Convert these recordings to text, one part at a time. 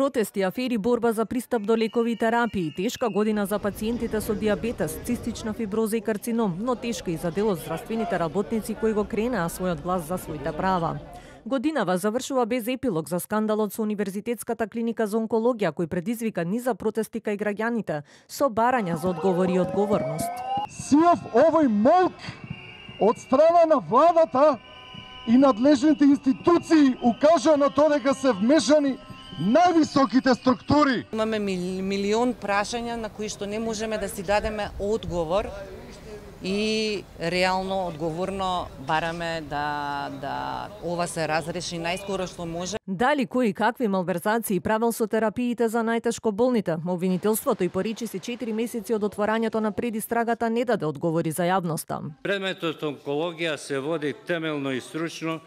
Протести, афери, борба за пристап до лекови и терапии, тешка година за пациентите со диабетес, цистична фиброза и карцином, но тешка и за дел од здравствените работници кои го кренаа својот глас за своите права. Годинава завршува без епилог за скандалот со Универзитетската клиника за онкологија, кој предизвика низа протести кај граѓаните со барања за одговори и одговорност. Сиов овој молк од страна на владата и надлежните институции укажа на тоа дека се вмешани највисоките структури. Имаме милион прашања на кои што не можеме да си дадеме одговор и реално одговорно бараме да ова се разреши најскоро што може. Дали кои какви малверзации правел со терапиите за најтешко болните, обвинителството и поречи се 4 месеци од отворањето на предистрагата не даде одговори за јавноста. Предметот онкологија се води темелно и стручно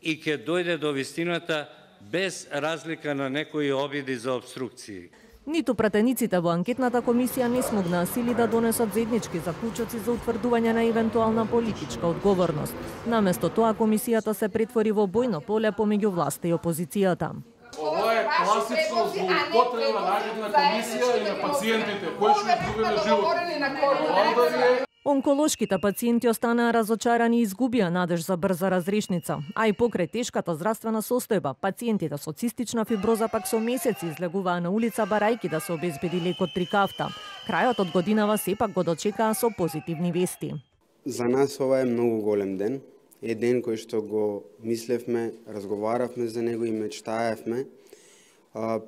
и ќе дојде до вистината без разлика на некои обиди за обструкции. Ниту пратениците во анкетната комисија не смогнаа сили да донесат заеднички заклучоци за утврдување на евентуална политичка одговорност. Наместо тоа комисијата се претвори во бојно поле помеѓу власта и опозицијата. Ова е класично злоупотреба на анкетна комисија и на пациентите кои што изгубиле живот. Онколошките пациенти останаа разочарани и изгубија надеж за брза разрешница, а и покрај тешката здравствена состојба, пациентите со цистична фиброза пак со месеци излегуваа на улица барајки да се обезбеди лекот Трикафта. Крајот од годинава сепак го дочекаа со позитивни вести. За нас ова е многу голем ден. Е ден кој што го мислевме, разговаравме за него и мечтаевме.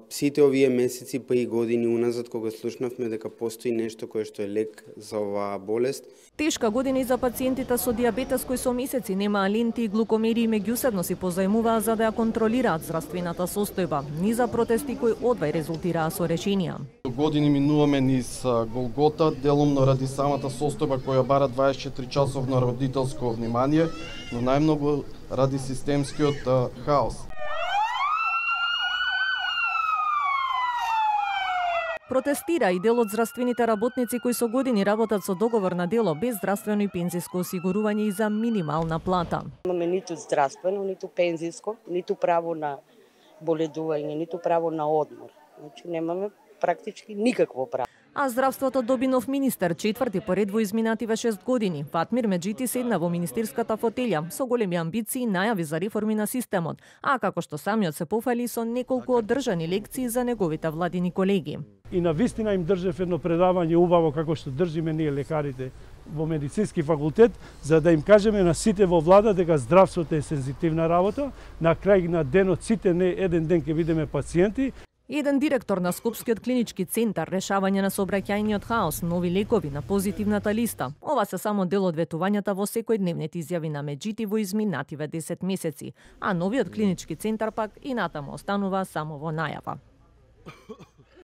Сите овие месеци па и години уназад кога слушнавме дека постои нешто кое што е лек за оваа болест. Тешка година и за пациентите со диабетес кои со месеци немаа ленти и глукомери и меѓусебно си позајмуваа за да ја контролираат здравствената состојба. Низа протести кои одвај резултираа со решенија. Години минуваме низ голгота, делумно ради самата состојба која бара 24 часовно родителско внимание, но најмногу ради системскиот хаос. Протестира и дел од здравствените работници кои со години работат со договор на дело без здравствено и пензиско осигурување и за минимална плата. Имаме ниту здравствено, ниту пензиско, ниту право на боледување, ниту право на одмор. Значи немаме практички никакво право. А здравството доби нов министер, четврти поред во изминативе 6 години. Фатмир Меджити седна во министерската фотелја со големи амбиции и најави за реформи на системот, а како што самиот се пофали со неколку одржани лекции за неговите владини колеги. И на вистина им држев едно предавање убаво како што држиме ние лекарите во медицински факултет, за да им кажеме на сите во влада дека здравството е сензитивна работа. На крај на денот сите не еден ден ќе бидеме пациенти. Еден директор на Скопскиот клинички центар, решавање на сообраќајниот хаос, нови лекови на позитивната листа. Ова се само дел од ветувањата во секојдневните изјави на Меджити во изминативе 10 месеци, а новиот клинички центар пак и натаму останува само во најава.